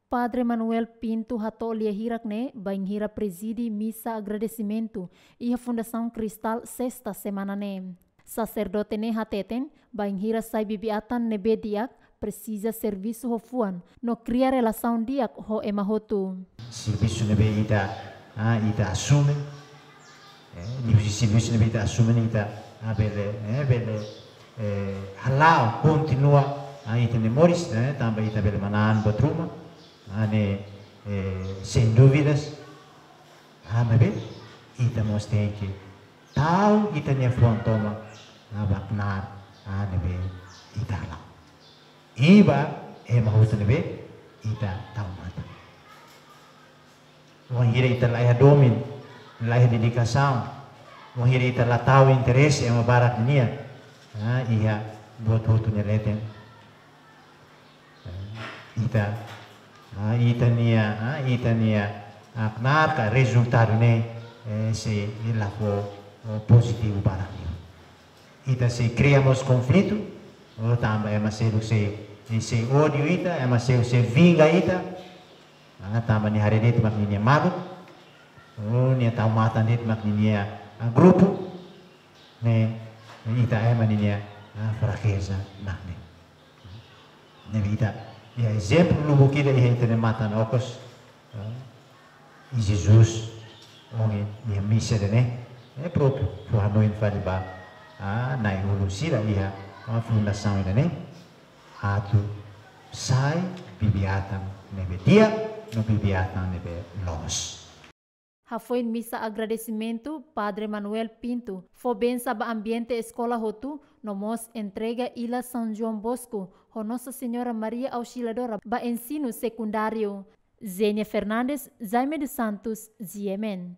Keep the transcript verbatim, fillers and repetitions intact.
Padre Manuel Pinto hato'o lia hirak ne'e bainhira prezide misa agradesimentu iha Fundasaun Kristal sesta semana ne'e. Saserdote ne'e hateten, bainhira sai bibi-atan ne'ebé di'ak, presiza servisu ho fuan no kria relasaun di'ak ho ema hotu. Servisu ne'ebé ita, ah, ita asume, eh, ne'e husi servisu ne'ebé ita asume ne'e ita, ah, bele, eh, bele, eh, hala'o, kontinua, ah, ita-nia moris, eh, tanba ita bele manán buat ruma, ah, ne'e, eh, sem dúvidas, ah, maibé ita mós tenke tau ita-nia fuan tomak, ah, ba knaar, ah, ne'ebé ita hala'o. I ba ema hotu ne'ebé ita tau matan. Wainhira ita la iha domin, la iha dedikasaun, wainhira ita la tau interese ema barak nian, ah, iha buat hotu nia leten. Ah, ita, ah, ita-nia, ah, ita-nia, ah, knaar ka rezultadu ne'e, eh, sei la fó, oh, pozitivu barak nian. Ita sei kria mós konflitu, oh, tanba ema seluk sei, sei ódiu ita, ema seluk sei vinga ita, ah, tanba nia haree de'it mak ninia maluk, oh, nia tau matan de'it mak ninia, ah, grupu, ne'e, ita ema ninia, ah, frakeza mak ne'e. Ne'ebé ita, iha ezemplu lubuk ida iha ita-nia matan okos, ah, i Jesus, ohin, iha misa ida-ne'e, ne'e própriu, fó hanoin fali ba, ah, na'i-ulun sira iha, ah, fundasaun ida-ne'e, atu sai bibi-atan ne'ebé di'ak, no bibi-atan ne'ebé loos. Hafoin misa agradesimentu, Padre Manuel Pinto fó bensa ba ambiente eskola hotu, no mós entrega ila São João Bosco ho Nossa Senhora Maria Auxiliadora ba ensinu sekundáriu. Zenia Fernandes, Jaime dos Santos, G M N.